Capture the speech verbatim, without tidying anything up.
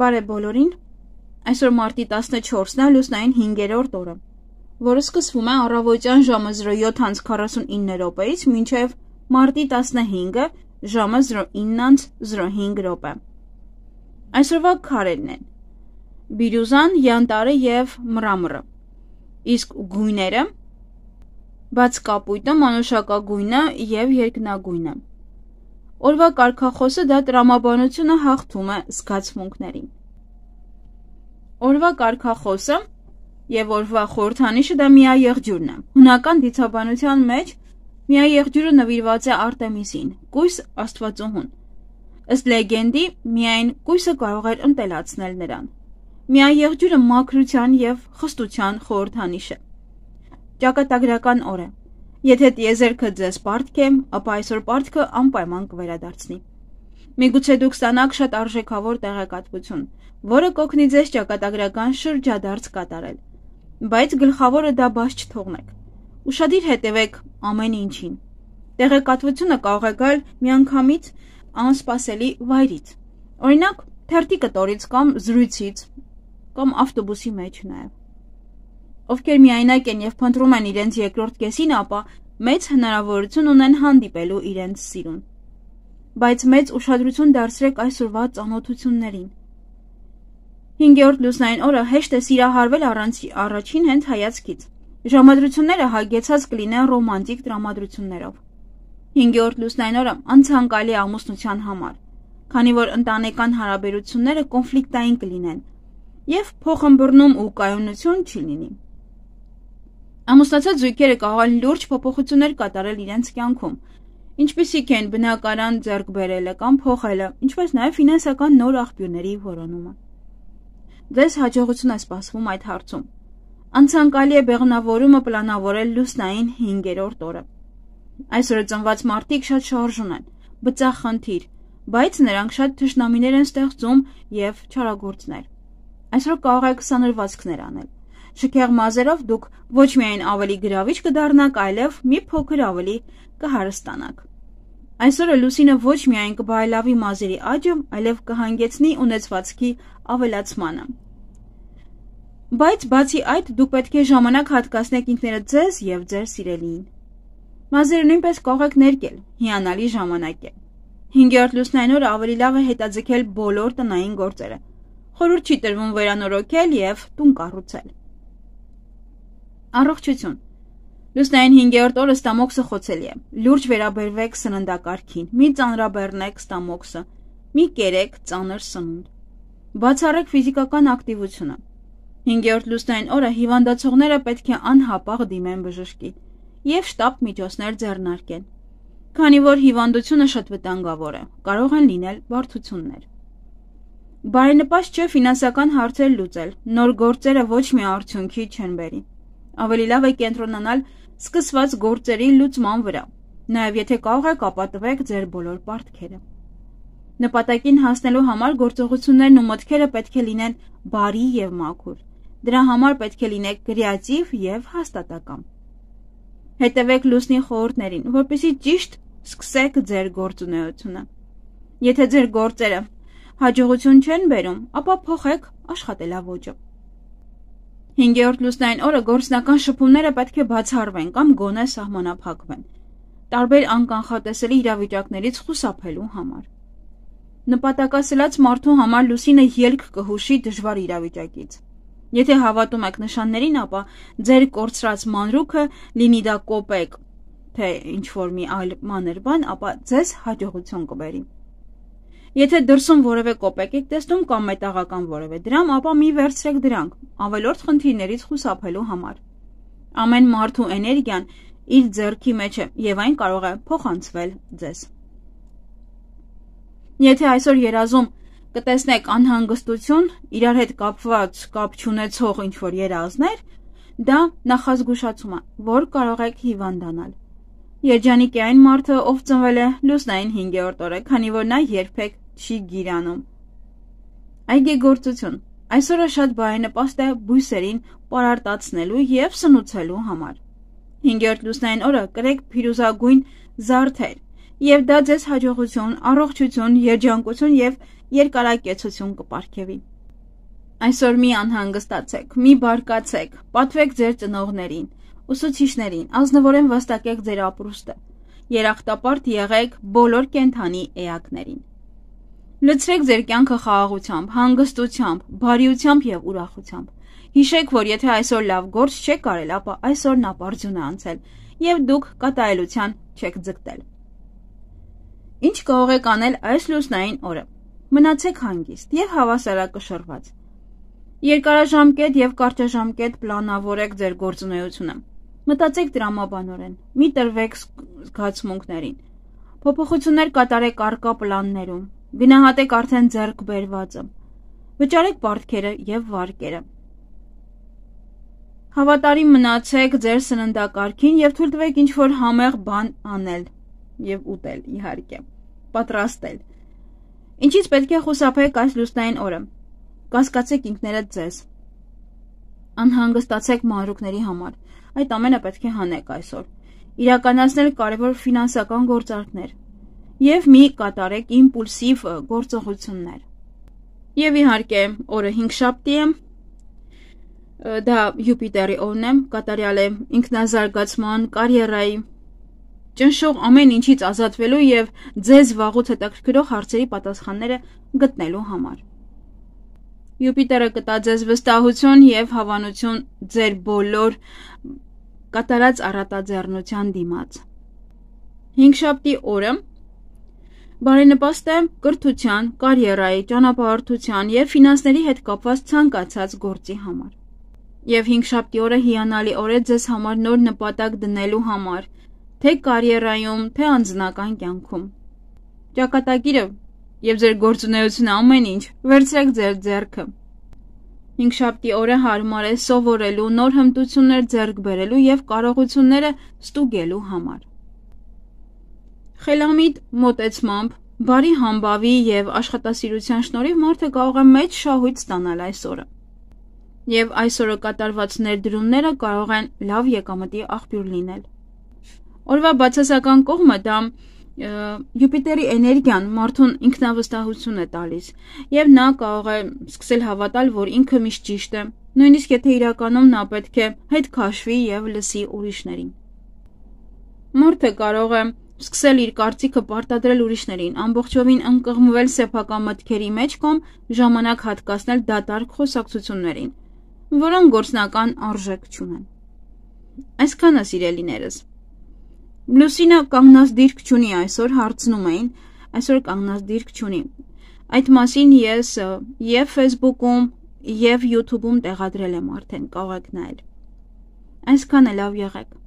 Բարև բոլորին, այսօր մարտի տասնչորսն է, լուսնային հինգերորդ օրը, որը սկսվում է առավոտյան ժամը զրո յոթ անց քառասունինը րոպեից մինչև մարտի տասնհինգը ժամը զրո ինը անց զրո հինգ րոպե։ Այսօրվա քարերն են Բիրյուզան, Յանտարը և Մրամրը, իսկ գույները բաց կապույտը, մանուշակագույնը և երկնագույնը։ Օրվա կարգախոսը դա տրամաբանությունը հաղթում է զգացմունքներին։ Օրվա կարգախոսը և օրվա խորհրդանիշը դա միաեղջյուրն է։ Հունական դիցաբանության մեջ միաեղջյուրը նվիրված է Արտեմիսին, կույս աստվածուհուն։ Ըստ լեգենդի, միայն կույսը կարող էր ընտելացնել նրան։ Միաեղջյուրը մաքրության և խստության խորհրդանիշ է։ Ճակատագրական օր է։ Եթե տիեզերքը ձեզ պարտք է, ապա այսօր պարտքը անպայման կվերադարձնի։ Միգուցե դուք ստանաք շատ արժեքավոր տեղեկատվություն, որը կօգնի ձեզ ճակատագրական շրջադարձ կատարել, բայց գլխավորը դա բաց չթողնեք։ Ուշադիր հետևեք ամեն ինչին։ Տեղեկատվությունը կարող է գալ միանգամից անսպասելի վայրից, օրինակ թերթի կտորից կամ զրույցից, կամ ավտոբուսի մեջ նաև։ Ովքեր միայնակ են և փնտրում են իրենց երկրորդ կեսին, ապա մեծ հնարավորություն ունեն հանդիպելու իրենց սիրուն։ Բայց մեծ ուշադրություն դարձրեք այսօրվա ծանոթություններին։ Հինգերորդ լուսնային օրը հեշտ է սիրահարվել առանց առաջին հենց հայացքից։ Ժամադրությունները հագեցած կլինեն ռոմանտիկ տրամադրություններով։ Հինգերորդ լուսնային օրը անցանկալի ամուսնության համար, քանի որ ընտանեկան հարաբերությունները կոնֆլիկտային կլինեն և փոխըմբռնում ու կայունություն չի լինի։ Ամուսնացած զույգերը կարող են լուրջ փոփոխություններ կատարել իրենց կյանքում, ինչպիսիք են բնակարան ձեռք բերելը կամ փոխելը, ինչպես նաև ֆինանսական նոր աղբյուրների որոնումը։ Ձեզ հաջողություն է սպասվում այդ հարցում։ Անցանկալի է բեղմնավորումը պլանավորել լուսնային հինգերորդ օրը։ Այսօրը ծնված մարդիկ շատ շարժուն են, բծախնդիր, բայց նրանք շատ թշնամիներ են ստեղծում և չարագործներ։ Այսօր կարող եք սանրվածքներ անել։ Շքեղ մազերով դուք ոչ միայն ավելի գրավիչ կդառնաք, այլև մի փոքր ավելի կհարստանաք։ Այսօրը լուսինը ոչ միայն կբարելավի մազերի աճը, այլև կհանգեցնի ունեցվածքի ավելացմանը։ Բայց բացի այդ, դուք պետք է ժամանակ հատկացնեք ինքներդ ձեզ և ձեր սիրելիին։ Մազերը նույնպես կարող եք ներկել, հիանալի ժամանակ է։ Հինգերորդ լուսնային օրը ավելի լավ է հետաձգել բոլոր տնային գործերը։ Խորհուրդ չի տրվում վերանորոգել և տուն կառուցել։ Առողջություն։ Լուսնային հինգերորդ օրը ստամոքսը խոցելի է։ Լուրջ վերաբերվեք սննդակարգին, մի ծանրաբեռնեք ստամոքսը, մի կերեք ծանր սնունդ։ Բացառեք ֆիզիկական ակտիվությունը։ Հինգերորդ լուսնային օրը հիվանդացողները պետք է անհապաղ դիմեն բժշկի և շտապ միջոցներ ձեռնարկեն։ Քանի որ հիվանդությունը շատ վտանգավոր է, կարող են լինել բարդություններ։ Բարենպաստ չէ ֆինանսական հարցեր լուծել, նոր գործերը ոչ մի արդյունքի չեն բերի։ Ավելի լավ է կենտրոնանալ սկսված գործերի լուծման վրա, նաև եթե կարող եք ապա տվեք ձեր բոլոր պարտքերը։ Նպատակին հասնելու համար գործողություններն ու մտքերը պետք է լինեն բարի և մաքուր։ Դրա համար պետք է լինեք կրեատիվ և հաստատակամ։ Հետևեք լուսնի խորհուրդներին, որպեսզի ճիշտ սկսեք ձեր գործունեությունը։ Եթե ձեր գործերը հաջողություն չեն բերում, ապա փոխեք աշխատելաոճը։ Հինգերորդ լուսնային օրը գործնական շփումները պետք է բացառվեն կամ գոնե սահմանափակվեն, տարբեր անկանխատեսելի իրավիճակներից խուսափելու համար։ Նպատակասլաց մարդու համար լուսինը ելք կհուշի դժվար իրավիճակից։ Եթե հավատում եք նշաններին, ապա ձեր կորցրած մանրուքը, լինի դա կոպեկ, թե ինչ-որ մի այլ մանր բան, ապա ձեզ հաջողություն կբերի։ Եթե դրսում որևէ կոպեկ եք տեսնում կամ մետաղական որևէ դրամ, ապա մի վերցրեք դրանք, ավելորդ խնդիրներից խուսափելու համար։ Ամեն մարդու էներգիան իր ձեռքի մեջ է և այն կարող է փոխանցվել ձեզ։ Եթե այսօր երազում կտեսնեք անհանգստություն, իրար հետ կապված կապ չունեցող ինչ-որ երազներ, դա նախազգուշացում է, որ կարող եք հիվանդանալ։ Երջանիկ է այն մարդը, ով ծնվել է լուսնային հինգերորդ օրը, քանի որ նա երբեք չի գիրանում։ Այգեգործություն։ Այսօրը շատ բարենպաստ է բույսերին պարարտացնելու և սնուցելու համար։ Հինգերորդ լուսնային օրը կրեք փիրուզագույն զարդեր, և դա ձեզ հաջողություն, առողջություն, երջանկություն և երկարակեցություն կպարգևի։ Այսօր մի անհանգստացեք, մի բարկացեք, պատվեք ձեր ծնողներին, ուսուցիչներին, ազնվորեն վաստակեք ձեր ապրուստը, երախտապարտ եղեք բոլոր կենդանի էակներին։ Լցրեք ձեր կյանքը խաղաղությամբ, հանգստությամբ, բարիությամբ և ուրախությամբ։ Հիշեք, որ եթե այսօր լավ գործ չեք կարել, ապա այսօրն ապարդյուն է անցել և դուք կատարելության չեք ձգտել։ Ինչ կարող եք անել այս լուսնային օրը։ Մնացեք հանգիստ և հավասարակշռված։ Երկարաժամկետ և կարճաժամկետ պլանավորեք ձեր գործունեությունը։ Մտածեք տրամաբանորեն, մի տրվեք զգացմունքներին։ Փոփոխություններ կատարեք առկա պլաններում, գնահատեք արդեն ձեռք բերվածը, վճարեք պարտքերը և վարկերը։ Հավատարիմ մնացեք ձեր սննդակարգին և թույլ տվեք ինչ-որ համեղ բան անել և ուտել, իհարկե, պատրաստել։ Ինչից պետք է խուսափեք այս լուսնային օրը։ Կասկածեք ինքներդ ձեզ։ Անհանգստացեք մանրուքների համար։ Այդ ամենը պետք է հանեք այսօր։ Իրականացնել կարևոր ֆինանսական գործարքներ և մի կատարեք իմպուլսիվ գործողություններ։ Եվ իհարկե, օրը հինգշաբթի է, դա Յուպիտերի օրն է, կատարյալ է ինքնազարգացման, կարիերայի, ճնշող ամեն ինչից ազատվելու և ձեզ վաղուց հետաքրքրող հարցերի պատասխանները գտնելու համար։ Յուպիտերը կտա ձեզ վստահություն և հավանություն ձեր բոլոր կատարած առատաձեռնության դիմաց։ Հինգշաբթի օրը բարենպաստ է կրթության, կարիերայի, ճանապարհորդության և ֆինանսների հետ կապված ցանկացած գործի համար։ Եվ հինգշաբթի օրը հիանալի օր է ձեզ համար նոր նպատակ դնելու համար, թե կարիերայում, թե անձնական կյանքում։ Ճակատագիրը և ձեր գործունեությունը ամեն ինչ վերցրեք ձեր ձեռքը։ Հինգշաբթի օրը հարմար է սովորելու, նոր հմտություններ ձեռք բերելու և կարողությունները ստուգելու համար։ Խելամիտ մոտեցմամբ, բարի համբավի և աշխատասիրության շնորհիվ մարդը կարող է մեծ շահույթ ստանալ այս օրը։ Եվ այսօրը կատարված ներդրումները կարող են լավ եկամտի աղբյուր լինել։ Օրվա բացասական կողմը դա Յուպիտերի էներգիան մարդուն ինքնավստահություն է տալիս, և նա կարող է սկսել հավատալ, որ ինքը միշտ ճիշտ է, նույնիսկ եթե իրականում նա պետք է հետ քաշվի և լսի ուրիշներին։ Մարդը կարող է սկսել իր կարծիքը պարտադրել ուրիշներին, ամբողջովին ընկղմվել սեփական մտքերի մեջ կամ ժամանակ հատկացնել դատարկ խոսակցություններին, որոնք գործնական արժեք չունեն։ Այսքանը, սիրելիներս։ Լուսինը կանգնած դիրք չունի այսօր, հարցնում էին, այսօր կանգնած դիրք չունի։ Այդ մասին ես և Facebook-ում, և YouTube-ում տեղադրել եմ արդեն, կարող եք նայել։ Այսքանը, լավ եղեք։